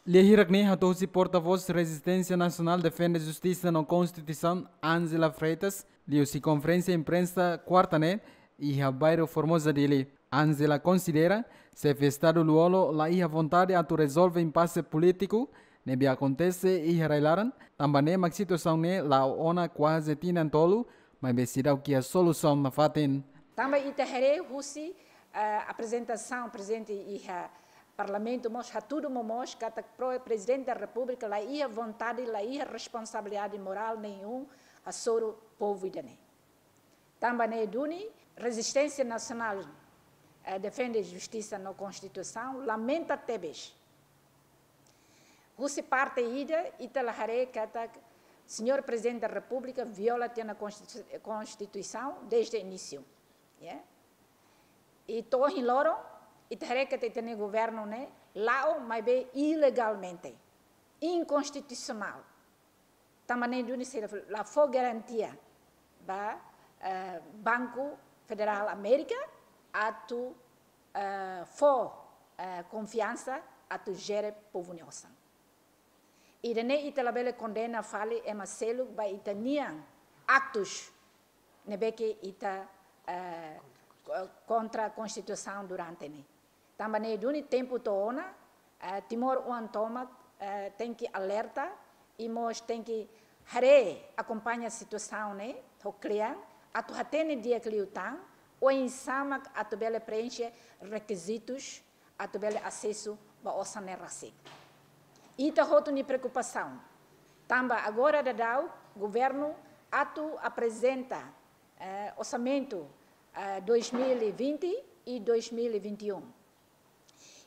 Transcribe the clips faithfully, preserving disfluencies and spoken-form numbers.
Lia hirak ne'e hato'o husi portavós Rezisténsia Nasionál Defende Justisa no Konstituisaun, Ángela Freitas, liuhusi konferénsia imprensa kuarta ne'e iha bairru Formosa, Dili. Ángela konsidera xefe Estadu Lú-Olo la iha vontade atu rezolve impase polítiku ne'ebé akontese iha rai-laran, tanba ne'e mak situasaun ne'e la'o ona kuaze tinan tolu, maibé seidauk iha solusaun nafatin. Tanba ita haree husi, eh, aprezentasaun prezidente iha Parlamentu mós hatudu momoos katak pro-, Prezidente da Repúblika la iha vontade, la iha responsabilidade morál nenhum hasoru povu ida-ne'e. Tanba ne'e duni, Rezisténsia Nasionál, eh, Defende Justisa no Konstituisaun lamenta tebes. Husi parte ida, ita la haree katak Señór Prezidente da Repúblika viola tiha ona Konstitu-, Konstituisaun desde inísiu. Ya? I to'o ohin loron, ita haree katak ita-nia governu ne'e la'o, maibé ilegalmente, inkonstitusionál. Tanba ne'e duni sira la fó garantia ba, eh, Banku Federál Amérika atu, eh, fó, eh, konfiansa atu jere povu nia osan. Ida-ne'e ita labele kondena fali ema seluk ba ita-nian aktus ne'ebé ke ita, eh, ko-, kontra Konstituisaun durante ne'e. Tanba ne'e duni tempu to'o ona, eh, timoroan tomak, eh, tenke alerta, i mós tenke haree, akompaña situasaun ne'e ho klean, atu hatene di'ak liután oinsá mak atu bele preenxe rekizitus atu bele asesu ba osan ne'e rasik. Ita hotu nia preokupasaun. Tanba agora daudaun governu atu aprezenta, eh, orsamentu, eh, dois mil e vinte e dois mil e vinte e um.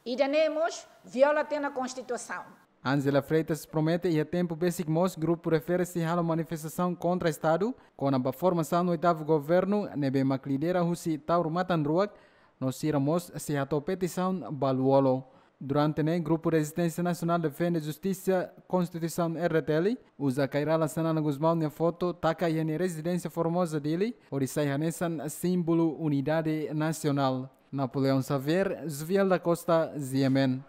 Ida-ne'e mós viola tiha ona Konstituisaun. Ángela Freitas promete iha tempu besik mós grupu refere-se halo manifestasaun kontra Estadu, kona-ba formasaun oitavu governu, ne'ebé mak lidera husi Taur Matan Ruak, no sira mós sei hato'o petisaun ba Lú-Olo. Durante ne'e, Grupu Rezisténsia Nasionál Defende Justisa Konstituisaun, R D T L, uza Kay Rala Xanana Gusmão nia foto taka iha nia rezidénsia Formosa, Dili, hodi sai hanesan símbolu unidade nasionál. Napoleão Xavier, Zuviel da Costa, G M N.